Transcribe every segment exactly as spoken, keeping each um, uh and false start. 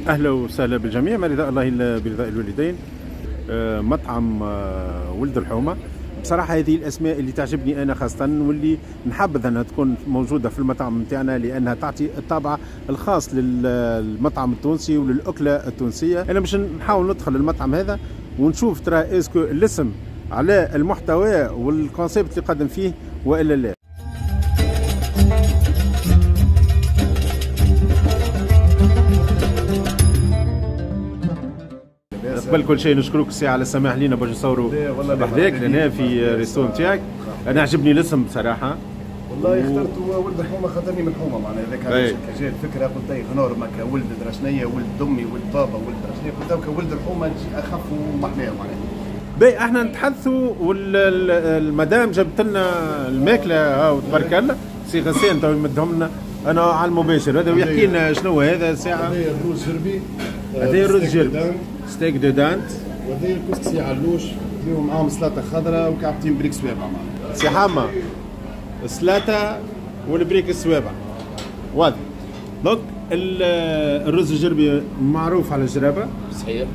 اهلا وسهلا بالجميع، ما رضاء الله الا برضاء الوالدين. مطعم ولد الحومه، بصراحة هذه الاسماء اللي تعجبني انا خاصة، واللي نحبذ انها تكون موجودة في المطعم نتاعنا، لانها تعطي الطابع الخاص للمطعم التونسي وللاكله التونسية. انا باش نحاول ندخل المطعم هذا ونشوف ترى est-ce que الاسم على المحتوى وال concept اللي قدم فيه والا لا. قبل كل شيء نشكرك سي على السماح لينا باش نصوروا بحذاك لهنا في resto نتاعك. انا عجبني الاسم بصراحة والله، و... اخترت ولد الحومه خاطرني من الحومه، معناها هذاك علاش جات الفكرة. قلت اي غنور ماك ولد درشنيه، ولد امي، ولد بابا، ولد درشنيه، قلت ولد الحومه تجي اخف ومحناه معناها. باهي احنا نتحدثوا والمدام جابت لنا الماكلة وتبارك الله، سي غسان تو يمدهم لنا انا على المباشر هذا ويحكي لنا شنو هذا الساعة. هذا الروز جربي، هذا الروز جربي steak de dinde، وهذا الكسكسي علوش فيهم معاهم سلطة خضراء وكعبتين بريك سوابع. معاهم سي حما السلطة والبريك السوابع واضح. donc الرز الجربي معروف على الجرابه، صحيح.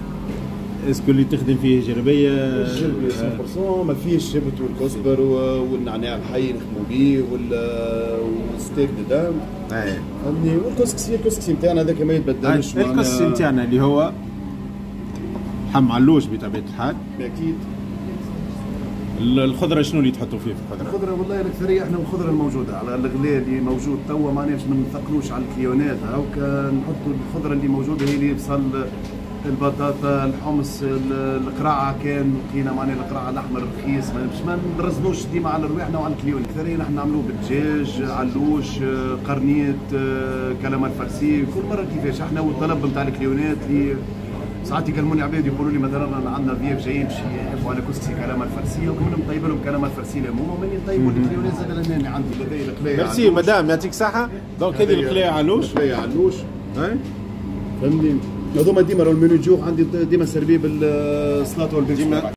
est-ce que اللي تخدم فيه جربيه؟ الجربي مية بالمية ما فيهش الشبت والكزبر والنعناع الحي نخدموا به وال steak de dinde. اي فهمتني. والكسكسي الكسكسي نتاعنا هذاك ما يتبدلش. الكسكسي نتاعنا اللي هو لحم علوش بطبيعة الحال. اكيد. الخضرة شنو اللي تحطوا فيه في الخضرة؟ الخضرة والله الاكثرية احنا الخضرة الموجودة على الغلاء اللي موجود توا، معناها باش ما نثقلوش على الكليونات، هاوكا نحطوا الخضرة اللي موجودة هي اللي بصل، البطاطا، الحمص، القرعة، كان لقينا معناها القرعة الاحمر رخيص، باش ما نرزنوش ديما على رواحنا وعلى ال client. الاكثرية نحن نعملوه بالدجاج، علوش، قرنيط، calamar farci، كل مرة كيفاش احنا والطلب نتاع الكليونات. اللي ساعات يكلموني عباد يقولوا لي مثلا عندنا ضياف جايين باش يحبوا على كسكسي calamar farci، وكنا نطيب لهم calamar farci لهما، وماني نطيبوا الكليونات زاد لهنا عندي لدي القلايه. merci madame، يعطيك الصحة. donc هذه القلايه علوش، القلايه علوش فهمني. هذوما ديما ال menu du jour عندي ديما servi بالسلطة والبيك ديما.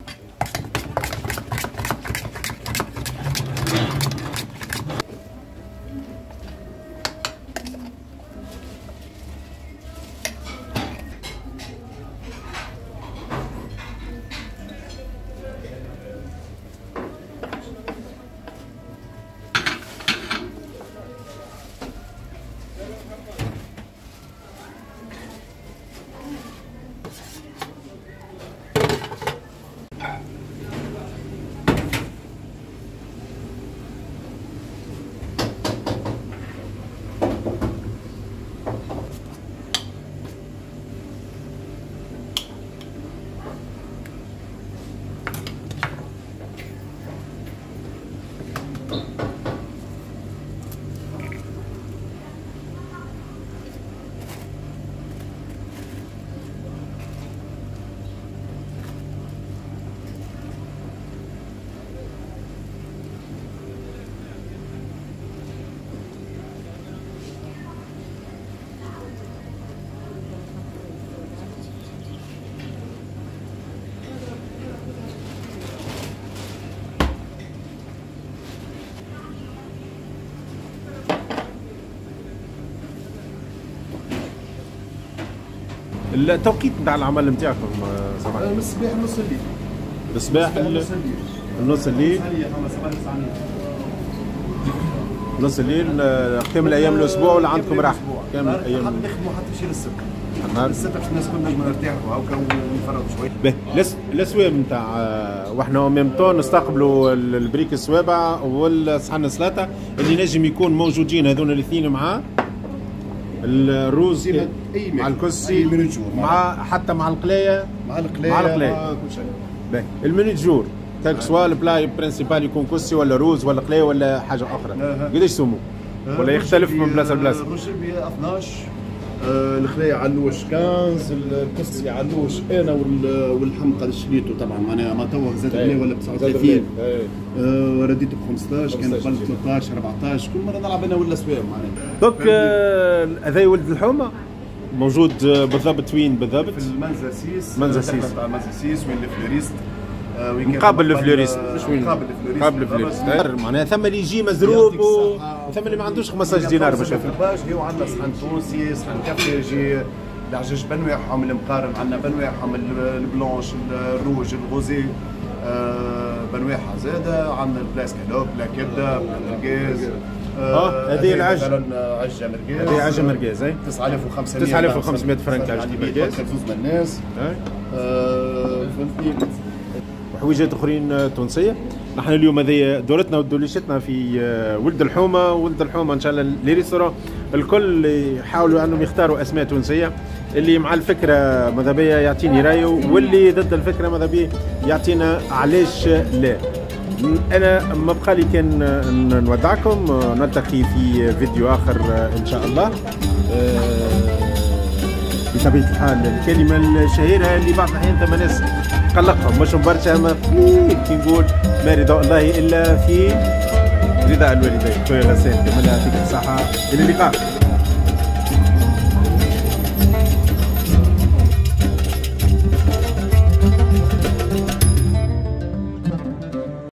التوقيت نتاع العمل نتاعكم سماح؟ من الصباح لنص الليل. الصباح لنص الليل. نص الليل. نص الليل كامل ايام الاسبوع ولا عندكم راحة؟ كامل ايام نخدموا حتى شي للسبت. السبت باش الناس كلنا نجموا نرتاحوا هاكا ونفرغوا شوية. باهي الاسوام نتاع واحنا même temps نستقبلوا البريك السوابع والصحن السلطة اللي نجم يكون موجودين هذون الاثنين مع الروز مع الكسكسي مع حتى مع القلايه، مع القلايه مع القلايه مع كل شيء. باهي ال menu du jour quel que soit ال plat principal يكون كسكسي ولا روز ولا قلايه ولا حاجة اخرى، قداش سمو؟ ولا يختلف من بلاصة لبلاصه؟ الروز ب اثناش، الخلايا علوش خمسطاش، الكسكسي علوش انا واللحم قد شريته طبعا معناها ما توا زاد غلي ولا ب تسعة وثلاثين، آه رديته ب خمسطاش، كان قبل ثلاثطاش أربعطاش، كل مرة نلعب انا ولا سوام معناها. donc هذا ولد الحومه موجود بالضبط وين بالضبط؟ في المنزه سيس. منزه سيس، المنزه سيس وين ال fleuriste، مقابل ال fleuriste، مش وين مقابل ال fleuriste. مقابل ال fleuriste معناها ثم اللي يجي مزروب وثم اللي ما عندوش خمسطاش دينار باش ياكل. هو عندنا صحن تونسي، صحن كافي، يجي العجاج بانواعهم، المقارن عندنا بانواعهم، ال blanche، ال rouge، ال rosé آه بانواعها زاده. عندنا ال plat escalope، plat كبده، plat مرقاز. اه هذه العجه مثلا عجة مرقاز، هذه عجة مرقاز اي تسعة آلاف وخمسمية تسعة آلاف وخمسمية فرنك عجة مرقاز، زوز من الناس. آه فهمتني. وحويجات اخرين تونسية. نحن اليوم هذه دورتنا ودوليشتنا في ولد الحومه، ولد الحومه ان شاء الله les restaurants الكل يحاولوا انهم يختاروا اسماء تونسية. اللي مع الفكرة ماذا بيا يعطيني رايه، واللي ضد الفكرة ماذا بيا يعطينا علاش لا. انا ما بقى لي كان نودعكم، نلتقي في فيديو اخر ان شاء الله. بطبيعة الحال الكلمة الشهيرة اللي بعض الاحيان ثم ناس قلقهم مش برشا، ما كي نقول ما رضا الله الا في رضا الوالدين. خويا غسان كمال يعطيك الصحة، الى اللقاء.